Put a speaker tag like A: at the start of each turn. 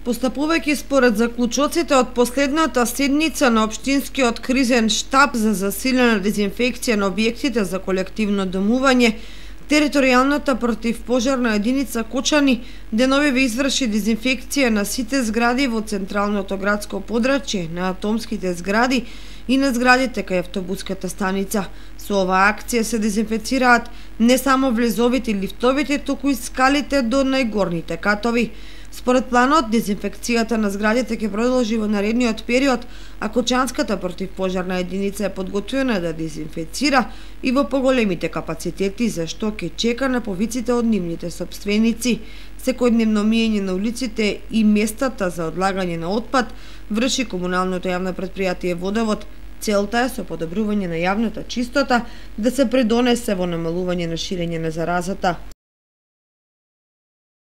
A: Постапувајќи според заклучоците од последната седница на Општинскиот кризен штаб за засилена дезинфекција на објектите за колективно домување, територијалната противпожарна единица Кочани деновиве изврши дезинфекција на сите згради во централното градско подрачје, на атомските згради и на зградите кај автобуската станица. Со оваа акција се дезинфецираат не само влезовите и лифтовите, туку и скалите до најгорните катови. Според планот, дезинфекцијата на зградите ќе продолжи во наредниот период, а Кочанската противпожарна единица е подготвена да дезинфецира и во поголемите капацитети, за што ќе чека на повиците од нивните сопственици. Секојдневно миење на улиците и местата за одлагање на отпад врши комуналното јавно претпријатие Водовод. Целта е со подобрување на јавната чистота да се придонесе во намалување на ширење на заразата.